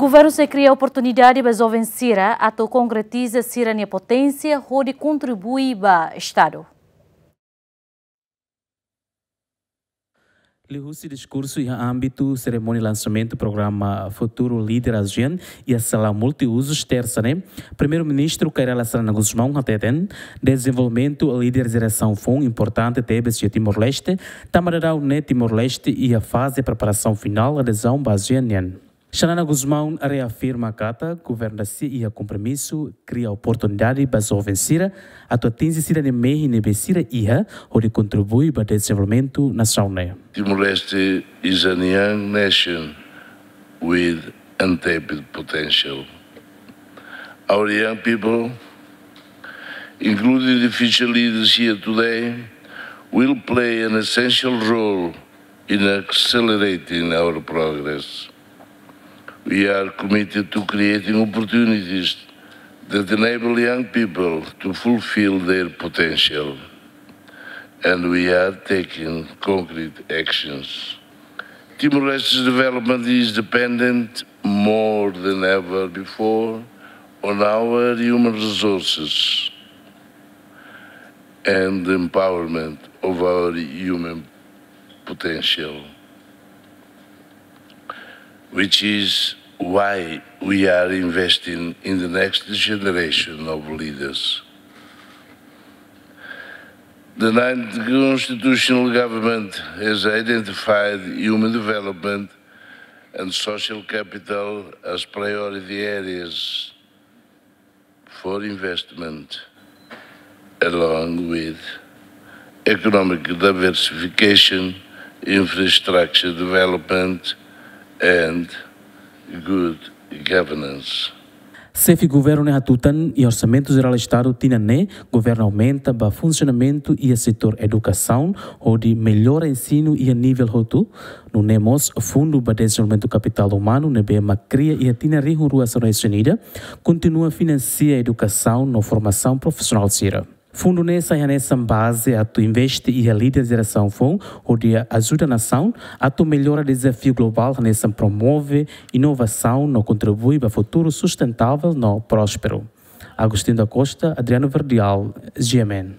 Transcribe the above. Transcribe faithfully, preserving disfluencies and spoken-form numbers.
Governu sei kria oportunidade ba joven sira atu konkretiza sira-nia poténsia hodi kontribui ba Estadu. Liuhusi diskursu iha ámbitu serimónia lansamentu programa Futuro Líder ASEAN iha sala multiuzus, tersa ne'e, Primeiru-Ministru Kay Rala Xanana Gusmão hateten, dezenvolvimentu líder jerasaun foun importante tebes iha Timor-Leste, tanba daudaun ne'e Timor-Leste iha faze preparasaun finál adezaun ba ASEAN nian. Xanana Gusmão reafirma katak governu da-sia iha kompromisu kria oportunidade ba joven sira atu atinje sira-nia mehi ne'ebé sira iha hodi kontribui ba dezenvolvimentu nasaun ne'e. Timor-Leste is a young nation with untapped potential. Our young people, including the future leaders here today, will play an essential role in accelerating our progress. We are committed to creating opportunities that enable young people to fulfill their potential, and we are taking concrete actions. Timor-Leste's development is dependent more than ever before on our human resources and the empowerment of our human potential, which is why we are investing in the next generation of leaders. The ninth constitutional government has identified human development and social capital as priority areas for investment, along with economic diversification, infrastructure development, and good governance. Xefe governu ne'e hatutan, iha Orsamentu Jerál Estadu tinan ne'e, governu aumenta ba funsionamentu iha setór edukasaun, hodi mellora ensinu iha nivel hotu, nune'e mós fundu ba dezenvolvimentu kapitál umanu ne'ebé mak kria iha tinan rihun rua sanulu-resin-ida, kontinua finansia edukasaun no formasaun profisionál sira. Fundu ne'e sai hanesan baze atu investe iha líder jerasaun foun, hodi ajuda nasaun atu mellora dezafiu globál hanesan promove inovasaun no kontribui ba futuru sustentável no prósperu. Agostinho da Costa, Adriano Verdial, G M N.